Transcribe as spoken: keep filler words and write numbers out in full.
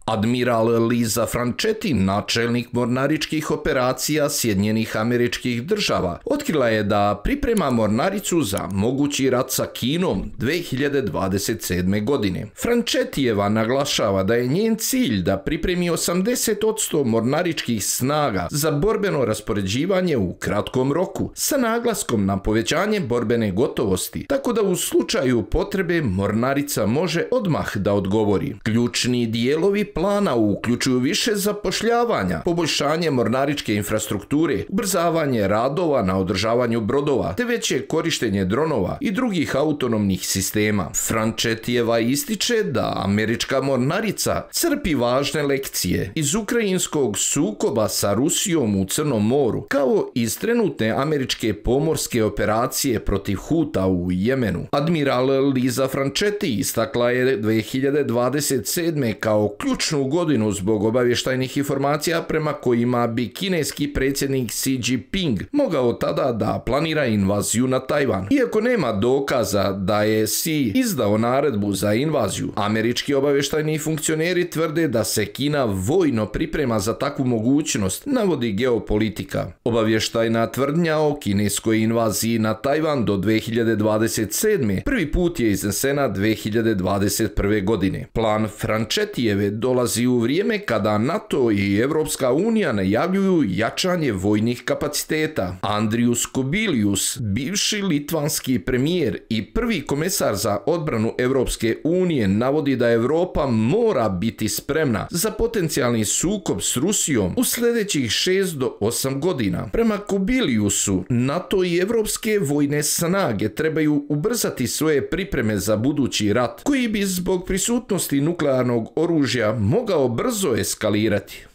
Admiral Lisa Franchetti, načelnik mornaričkih operacija Sjedinjenih Američkih Država, otkrila je da priprema mornaricu za mogući rat sa Kinom dve hiljade dvadeset sedme. godine. Franchettijeva naglašava da je njen cilj da pripremi osamdeset posto mornaričkih snaga za borbeno raspoređivanje u kratkom roku, sa naglaskom na povećanje borbene gotovosti, tako da u slučaju potrebe mornarica može odmah da odgovori. Ključni dijelovi plana uključuju više zapošljavanja, poboljšanje mornaričke infrastrukture, ubrzavanje radova na održavanju brodova, te veće korištenje dronova i drugih autonomnih sistema. Franchettijeva ističe da američka mornarica crpi važne lekcije iz ukrajinskog sukoba sa Rusijom u Crnom moru, kao iz trenutne američke pomorske operacije protiv Huta u Jemenu. Admiral Lisa Franchetti istakla je dve hiljade dvadeset sedme. kao ključnu godinu zbog obavještajnih informacija prema kojima bi kineski predsjednik Xi Jinping mogao tada da planira invaziju na Tajvan. Iako nema dokaza da je Xi izdao naredbu za invaziju, američki obavještajni funkcioneri tvrde da se Kina vojno priprema za takvu mogućnost, navodi Geopolitika. Obavještajna tvrdnja o kineskoj invaziji na Tajvan do dve hiljade dvadeset sedme. prvi put je iznesena dve hiljade dvadeset prve. godine. Plan Franchettijeve dolazi u vrijeme kada NATO i Evropska unija najavljuju jačanje vojnih kapaciteta. Andrius Kubilius, bivši litvanski premijer i prvi komesar za odbranu Evropske unije, navodi da Europa mora biti spremna za potencijalni sukob s Rusijom u sljedećih šest do osam godina. Prema Kubiliusu, NATO i evropske vojne snage trebaju ubrzati svoje pripreme za budući rat, koji bi zbog prisutnosti nuklearnog oružja mogao brzo eskalirati.